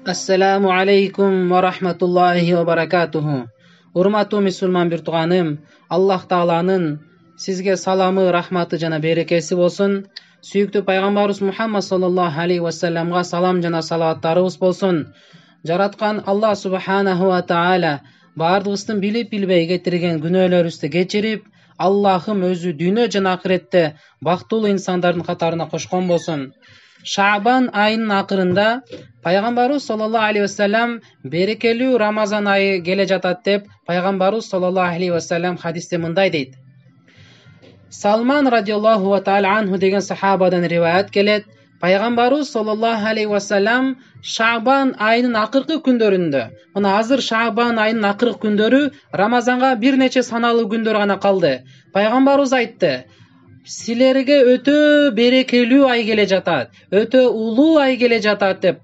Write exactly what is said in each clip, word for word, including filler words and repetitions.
Assalamu alaikum wa rahmatullahi wa barakatuhu. Урматтуу мусулман бир тууганым, Аллах Тааланын сизге саламы, рахматы жана берекеси болсун. Сүйүктүү пайгамбарыбыз Мухаммад саллаллаху алейхи ва салламга салам жана салаваттарыбыз болсун. Жараткан Аллах субханаху ва таала бардыгыбыздын билип билбей кетирген күнөөлөрүбүздү кечирип, Аллахым өзү дүйнө жана акыретте бактылуу инсандардын катарына кошкон болсун. Шаабан айынын акырында пайгамбарыбыз саллаллаху алейхи ва саллам берекелүү Рамазан айы келе жатат деп пайгамбарыбыз саллаллаху алейхи ва саллам хадисте мындай дейт. Салман радиаллаху ва таала анху деген сахабадан риваят келет. Пайгамбарыбыз саллаллаху алейхи ва саллам Шаабан айынын акыркы күндөрүндө, мына азыр Шаабан айынын акыркы күндөрү, Рамазанга бир нече саналуу күндөр гана калды. Пайгамбарыбыз айтты: силерге өтө берекелүү ай келе жатат, өтө улуу ай келе жатат деп.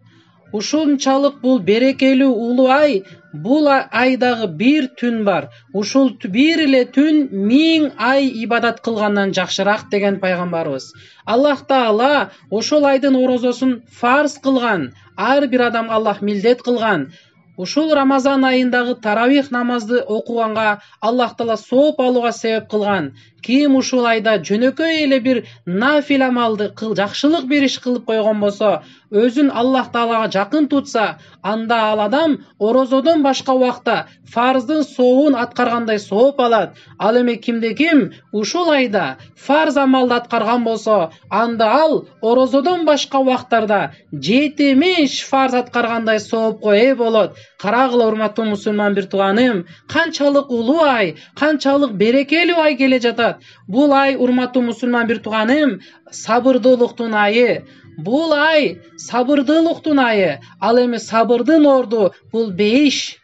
Ушунчалык бул берекелүү улуу ай, бул айдагы бир түн бар. Ушул бир эле түн миң ай ибадат кылгандан жакшыраак деген пайгамбарыбыз. Аллах Таала ошол айдын орозосун фарз кылган. Ар бир адам Аллах милдет кылган. Ушул Рамазан айындагы таравих намазды окуганга Аллах Таала сооп алууга себеп кылган. Ким ушул айда жөнөкөй эле бир нафил амалды кыл, жакшылык бир иш кылып койгон болсо, өзүн Аллах Таалага жакын тутса, анда ал адам орозодон башка убакта фарздын сообун аткаргандай сооп алат. Ал эми кимде ким ушул айда фарз амалды аткарган болсо, анда ал орозодон башка убактарда жетимиш фарз аткаргандай соопко ээ болот. Карагыла, урматтуу мусулман бир тууганым, канчалык улуу ай, канчалык берекелүү ай келе жатат. Бул ай, урматтуу мусулман бир тууганым, сабырдуулуктун айы. Бул ай сабырдуулуктун айы. Ал эми сабырдын орду бул бейиш.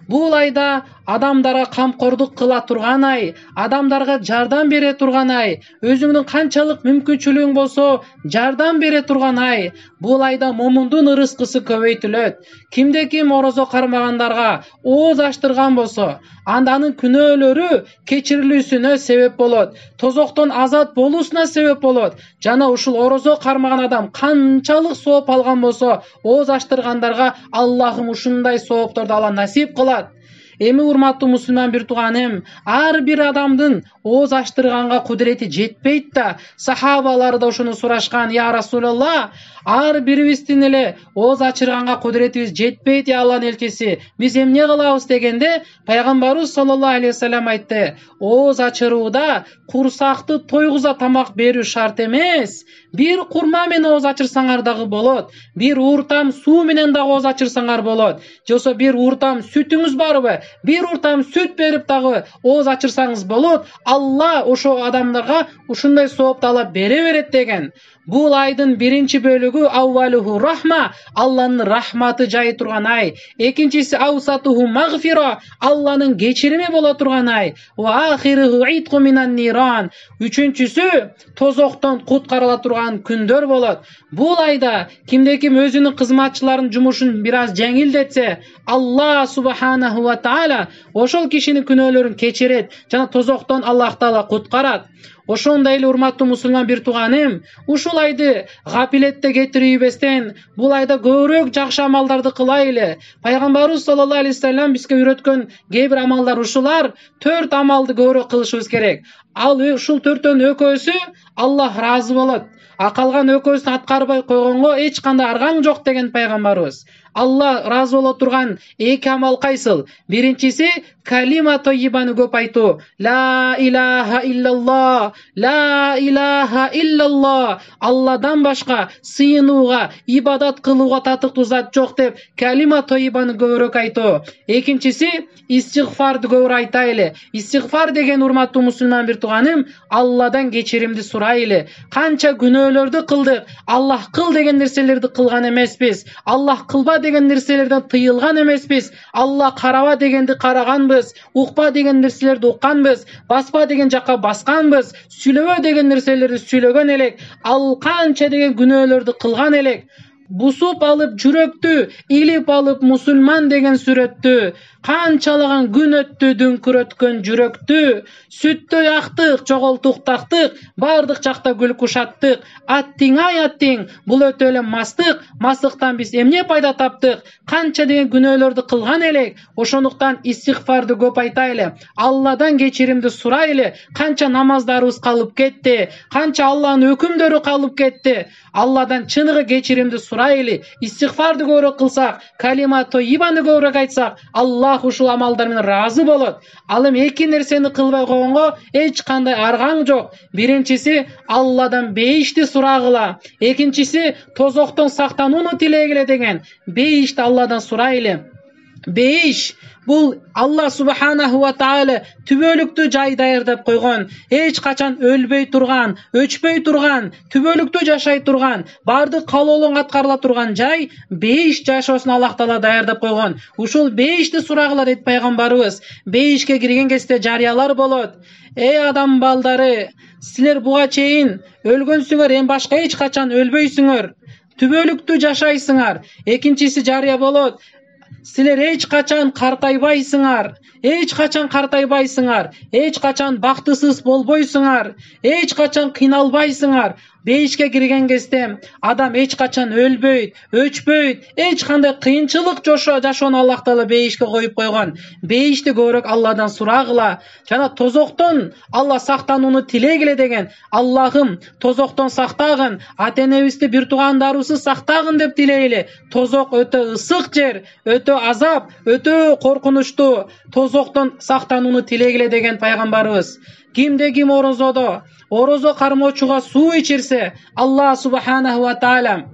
Бул айда адамдарга камкордук кыла турган ай, адамдарга жардам бере турган ай, өзүңдүн канчалык мүмкүнчүлүгүң болсо жардам бере турган ай. Бул айда момундун ырыскысы көбөйтүлөт. Кимде ким орозо кармагандарга ооз ачтырган болсо, анда анын күнөөлөрү кечирилүүсүнө себеп болот, тозоктон азат болуусуна себеп болот. Жана ушул орозо кармаган адам канчалык сооп алган болсо, ооз ачтыргандарга Аллахым ушундай соопторду Алла насип кылат. Эми урматтуу мусулман бир тууганым, ар бир адамдын ооз ачтырганга кудурети жетпейт да. Сахабалар да ошону сурашкан: я Расулалла, ар бирибиздин эле ооз ачырганга кудуретибиз жетпейт, я Алланын элчиси, биз эмне кылабыз дегенде, пайгамбарыбыз саллаллаху алейхи ва саллям айтты: ооз ачырууда курсакты тойгуза тамак берүү шарт эмес. Бир курма менен ооз ачырсаңар дагы болот, бир ууртам суу менен дагы ооз ачырсаңар болот, же болбосо бир ууртам сүтүңүз барбы, бир ууртам сүт берип дагы ооз ачырсаңыз болот. Алла ошо адамдарга ушундай соопту Алла бере берет деген. Бул айдын биринчи бөлүгү аввалуху рахма, Алланын рахматы жайы турган ай. Экинчиси аусатуху магфира, Алланын кечирими боло турган ай. Ва ахируху итқу минан ниран, үчүнчүсү тозоктон куткарыла турган күндөр болот. Бул айда кимде ким өзүнүн кызматчыларынын жумушун бир аз жеңилдетсе, Аллах субханаху ва таала ошол кишинин күнөөлөрүн кечирет жана тозоктон Аллах Таала куткарат. Ошондой эле, урматтуу мусулман бир тууганым, ушул айды гапилетте кетирбестен, бул айда көбүрөөк жакшы амалдарды кылайлы. Пайгамбарыбыз саллаллаху алейхи ва саллям бизге үйрөткөн кээ бир амалдар ушулар. Төрт амалды көбүрөөк кылышыбыз керек. Ал ушул төртөөнүн экөөсү Аллах ыраазы болот. А калган экөөсүн аткарбай койгонго эч кандай аргаң жок деген пайгамбарыбыз. Алла ыраазы боло турган эки амал кайсыл? Биринчиси калима тойибаны көп айтуу. Ла илаха иллаллах, ла илаха иллаллах. Алладан башка сыйынууга, ибадат кылууга татыктуу зат жок деп калима тойибаны көбүрөөк айтуу. Экинчиси истигфарды көбүрөөк айтайлы. Истигфар деген, урматтуу мусулман бир тууганым, Алладан кечиримди сурайлы. Канча күнөөлөрдү кылдык, Аллах кыл деген нерселерди кылган эмеспиз. Аллах кылба деген нерселерден тыйылган эмеспиз. Алла караба дегенди караганбыз, укпа деген нерселерди укканбыз, баспа деген жакка басканбыз, сүйлөбө деген нерселерди сүйлөгөн элек. Ал канча деген күнөөлөрдү кылган элек. бусуп алып жүрөктү, илип алып мусулман деген сүрөттү, канчалаган күн өттү дүңкүрөткөн жүрөктү, сүттөй актык, жоголтуктактык, бардык жакта гүл кушаттык. Аттиң ай аттиң, бул өтө эле мастык, мастыктан биз эмне пайда таптык? Канча деген күнөөлөрдү кылган элек, ошондуктан истигфарды көп айтайлы, Алладан кечиримди сурайлы. Канча намаздарыбыз калып кетти, канча Алланын өкүмдөрү калып кетти. Алладан чыныгы кечиримди сурайлы, истигфарды көбүрөөк кылсак, калима тойибаны көбүрөөк айтсак, Аллах ушул амалдар менен ыраазы болот. Ал эми эки нерсени кылбай койгонго эч кандай аргаң жок. Биринчиси Алладан бейишти сурагыла, экинчиси тозоктон сактанууну тилегиле деген. Бейишти Алладан сурайлы. Бейиш бул Алла субханаху ва тааля түбөлүктүү жай даярдап койгон, эч качан өлбөй турган, өчпөй турган, түбөлүктүү жашай турган, бардык каалоолуң аткарыла турган жай бейиш жашоосун Аллах таала даярдап койгон. Ушул бейишти сурагыла дейт пайгамбарыбыз. Бейишке кирген кезде жарыялар болот. Эй адам балдары, силер буга чейин өлгөнсүңөр, эми башка эч качан өлбөйсүңөр, түбөлүктүү жашайсыңар. Экинчиси жарыя болот. Силер эч качан картайбайсыңар, эч качан картайбайсыңар, эч качан бактысыз болбойсуңар, эч качан кыйналбайсыңар. Бейишке кирген кезде адам эч качан өлбөйт, өчпөйт, эч кандай кыйынчылык жашоону Аллах таала бейишке коюп койгон. Бейишти көбүрөөк Алладан сурагыла. Жана тозоктон Алла сактанууну тилегиле деген. Аллахым тозоктон сактагын, ата-энебизди, бир туугандарыбызды сактагын деп тилейли. Тозок өтө ысык жер, өтө азап, өтө коркунучтуу. Тозоктон сактанууну тилегиле деген пайгамбарыбыз. Кимде ким орозодо, орозо кармоочуга суу ичирсе, Алла субханаху ва тааля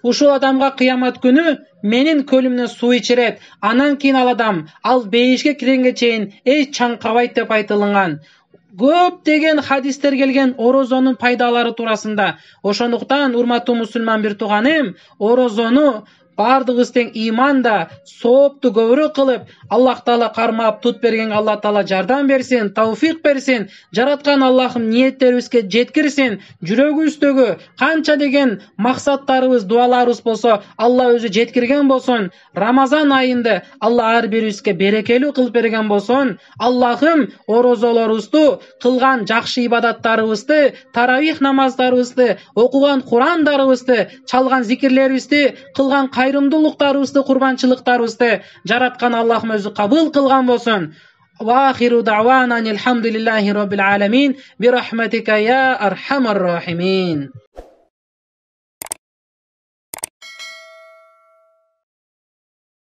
ушул адамга кыямат күнү менин көлүмдөн суу ичирет. Анан кийин ал адам ал бейишке киргенге чейин эч чаңкабайт деп айтылган. Көп деген хадистер келген орозонун пайдалары туурасында. Ошондуктан урматтуу мусулман бир тууганым, орозону бардыгыбыз тең иманда, соопту көбүрөөк кылып, Аллах таала кармап тут берген Алла таала жардам берсин, тауфик берсин. Жараткан Аллахым ниеттерибизге жеткирсин. Жүрөгүбүздөгү канча деген максаттарыбыз, дуаларыбыз болсо, Алла өзү жеткирген болсун. Рамазан айында Алла ар бирибизге берекелүү кылып берген болсун. Аллахым орозолорубузду, кылган жакшы ибадаттарыбызды, таравих намаздарыбызды, окуган Курандарыбызды, чалган зикирлерибизди, кылган кайрымдуулуктарыбызды, курбанчылыктарыбызды жараткан Аллахым өзү кабыл кылган болсун. Ва ахиру дa'wana алхамдулиллахи rabbil alamin bi rahmatika ya arhamar rahimin.